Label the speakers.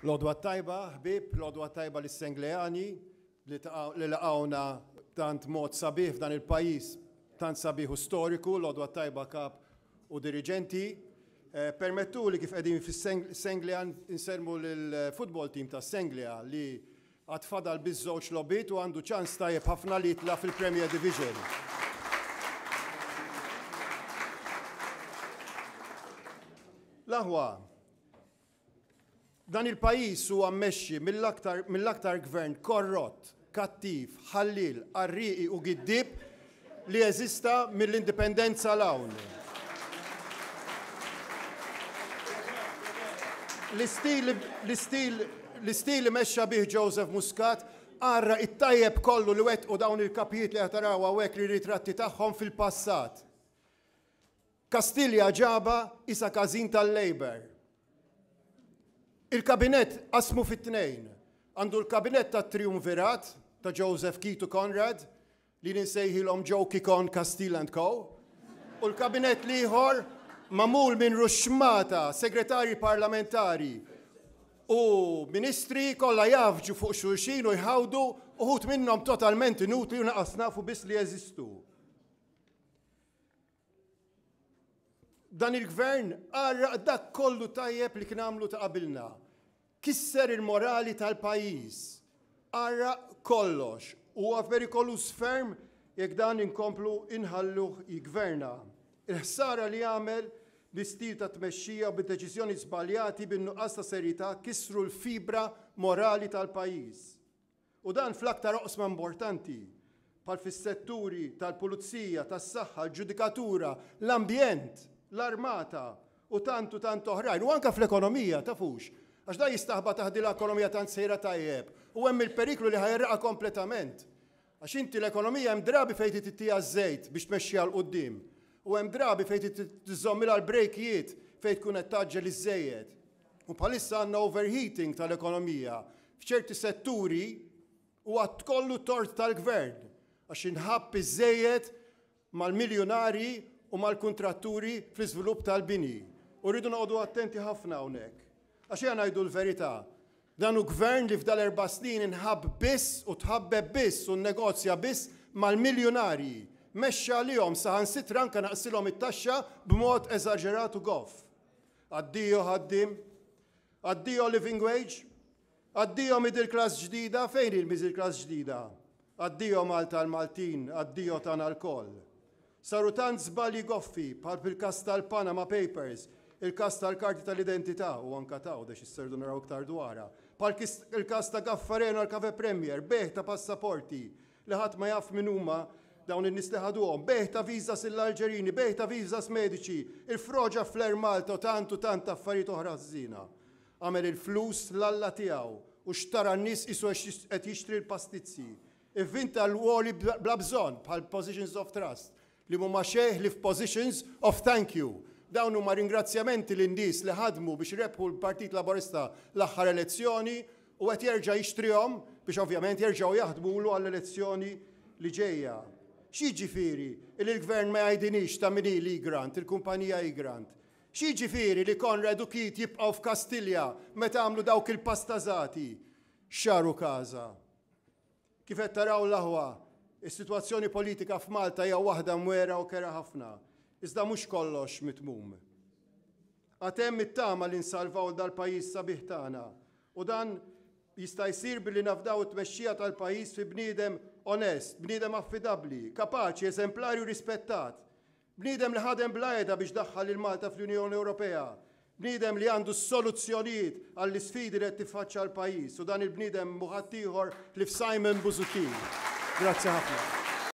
Speaker 1: L-għodwa t-tajba, ħbieb, l-għodwa t-tajba lis-Sengleani li laqgħuna b'tant mod sabiħ f'dan il-pajjiż tant sabiħ u storiku, l-għodwa t-tajba kap u diriġenti. Eh, permettuli kif qegħdin fis-Senglea nsellmu lill-football team tas-Senglea li għad fadal biss żewġ logħbiet u għandu ċans tajjeb ħafna li jitla' fil-Premier Division. L-aħwa, Dan il-pajjiż huwa mmexxi mill-aktar mill-aktar gvern korrott, kattiv, ħalliel, qarrieqi u giddieb li eżista mill-Indipendenza 'l hawn. L-istil l-istil l-istil li mexxa bih Joseph Muscat għarraq it-tajjeb kollu li wettqu dawn il-kapijiet li qed taraw hawnhekk r-ritratti tagħhom fil-passat. Kastilja ġabha qisha każin tal-Labour. Il-kabinett qasmu fi tnejn. Għandu l-kabinett tat-triumvirat ta' Joseph Keith u Conrad, li jien insejħilhom Joe Kikon Castile and Co. U l-kabinett l-ieħor magħmul minn ruxxmata segretarji parlamentari u ministri kollha jgħaffġu fuq xulxin u jħawdu, uħud minnhom totalment inutli u naqas nafu biss li jeżistu. Dan il-gvern għarraq dak kollu tajjeb li kien għamlu ta' qabilna. Kisser il-morali tal-pajjiż. Għarraq kollox. Huwa perikoluż ferm jekk dan inkomplu inħalluh jiggverna. Il-ħsara li għamel bi stil ta' tmexxija u bid-deċiżjoni żbaljati bin-nuqqas ta' serjetà kissru l-fibra morali tal-pajjiż. U dan fl-aktar oqsma importanti, bħal fis-setturi tal-pulizija, tas-saħħa, l-ġudikatura, l-ambjent, l-armata u tant u tant oħrajn. U anke fl-ekonomija, tafux, għax dan jistaħba taħt din l-ekonomija tant sejra tajjeb u hemm il-periklu li ħa jgħerraqha kompletament. Għax inti l-ekonomija hemm drabi fejn trid ittiha ż-żejt biex tmexxiha 'l quddiem u hemm drabi fejn trid tiżommilha l-brejkijiet fejn tkun qed tgħaġġel iżżejjed. U bħalissa għandna overheating tal-ekonomija f'ċerti setturi huwa kollu tort tal-gvern għax inħabb iżżejjed mal-miljunarji u mal-kuntratturi fl-iżvilupp tal-bini. U rridu noqogħdu attenti ħafna hawnhekk. Għax ejja ngħidu l-verità, dan hu gvern li f'dal-erba' snin inħabb biss u tħabbeb biss u nnegozja biss mal-miljunarji. Mexxa għalihom saħansitra anke naqsilhom it-taxxa b'mod eżaġerat u goff. Addio ħaddiem, Addio living wage, addio middle class ġdida, fejn hi l-middle class ġdida? Addio Malta l-Maltin, addio tagħna lkoll. Saru tant żbalji goffi bħal fil-każ tal-Panama Papers, il-każ tal-karti tal-identità u anka t'Għawdex issa rridu naraw iktar dwarha, bħal il-każ ta' Gaffarena u l-Cafè Premier, bejgħ ta' passaporti, li ħadd ma jaf min huma dawn in-nies li ħaduhom, bejgħ ta' visas lill-Alġerini, bejgħ ta' visas mediċi, il-froġa fl-Air Malta u tant u tant affarijiet oħra ħżiena. Għamel il-flus l-alla tiegħu u xtara n-nies qisu qed jixtri l-pastizzi. Ivvinta l-għoli bla bżonn bħal positions of trust li mhuma xejn ħlief positions of thank you. Dawn huma ringrazzjamenti lin-nies li ħadmu biex rebħu l-Partit Laburista l-aħħar elezzjoni u qed jerġa' jixtrihom biex ovvjament jerġgħu jaħdmulu għall-elezzjoni li ġejja. X'jiġifieri li l-Gvern ma jgħidinix ta' min hi l-Egrant, il-kumpanija Egrant? X'jiġifieri li Conrad u Keith jibqgħu f'Kastilja meta għamlu dawk il-pastażati? X'għaru każa. Kif qed taraw l-aħwa, is-sitwazzjoni politika f'Malta hija waħda mwera u kerha ħafna. Iżda mhux kollox mitmum. Għad hemm it-tama li nsalvaw dal-pajjiż sabiħ tagħna u dan jista' jsir billi nafdaw it-tmexxija tal-pajjiż fi bniedem onest, bniedem affidabbli, kapaċi, eżemplari u rispettat. Bniedem li ħadem bla heda biex daħħal lil Malta fl-Unjoni Ewropea. Bniedem li għandu s-soluzzjonijiet għall-isfidi li qed tiffaċċja l-pajjiż u dan il-bniedem mhu ħaddieħor ħlief Simon Busuttil. Grazzi ħafna.